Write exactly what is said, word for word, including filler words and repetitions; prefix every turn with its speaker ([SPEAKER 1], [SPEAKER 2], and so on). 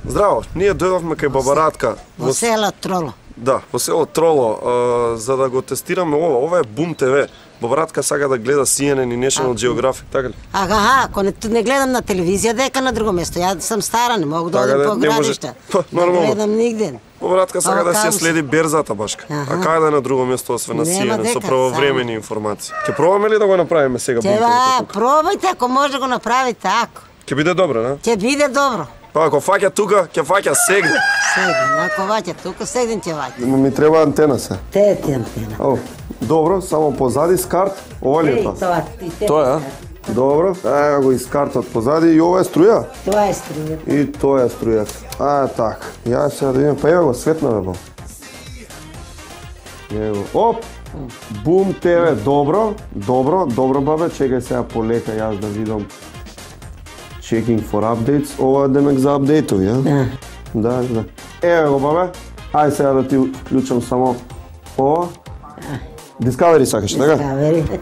[SPEAKER 1] Здраво, ние дојдовме кај баба Радка
[SPEAKER 2] во село Троло.
[SPEAKER 1] Да, во село Троло, а, за да го тестираме ова. Ова е Бум ТВ. Баба Радка сака да гледа Си Ен Ен и National Geographic, така ли?
[SPEAKER 2] Ага, ако не, не гледам на телевизија, дека на друго место. Ја сум стара, не могу да одам по градишта.
[SPEAKER 1] Па, нормално.
[SPEAKER 2] Не гледам нигде.
[SPEAKER 1] Баба Радка сака да се следи берзата башка. А кај да е на друго место освен на Си Ен Ен со правовремени информации. Ќе пробаме ли да го направиме сега Бум ТВ?
[SPEAKER 2] Ќе пробајте, ако може да го направите, ако.
[SPEAKER 1] Ќе биде добро, не?
[SPEAKER 2] Ќе биде добро.
[SPEAKER 1] Па ако фаќа тука, ќе фаќа сегде.
[SPEAKER 2] Сегде, ако ваќа тука, сегде ќе ваќа.
[SPEAKER 1] Ми треба антена се.
[SPEAKER 2] Те е ти антена.
[SPEAKER 1] О, добро, само позади скарт, ова ли е тоа?
[SPEAKER 2] Тоа,
[SPEAKER 1] Тоа е, а? Добро, ај го искартат позади и ова е струја?
[SPEAKER 2] Тоа е струја.
[SPEAKER 1] И тоа е струјата. А, така. Ја сега да видим, па ева го светна бе, бо. Ево, оп! Бум ТВ, добро, добро, добро бабе, чекај сега полека јас да видам. Checking for updates, ова демек за апдейтови, ја?
[SPEAKER 2] Да.
[SPEAKER 1] Да, да. Еве го бабе, ај сега да ти вклучам само ова. Discovery сакаш, така?
[SPEAKER 2] Discovery.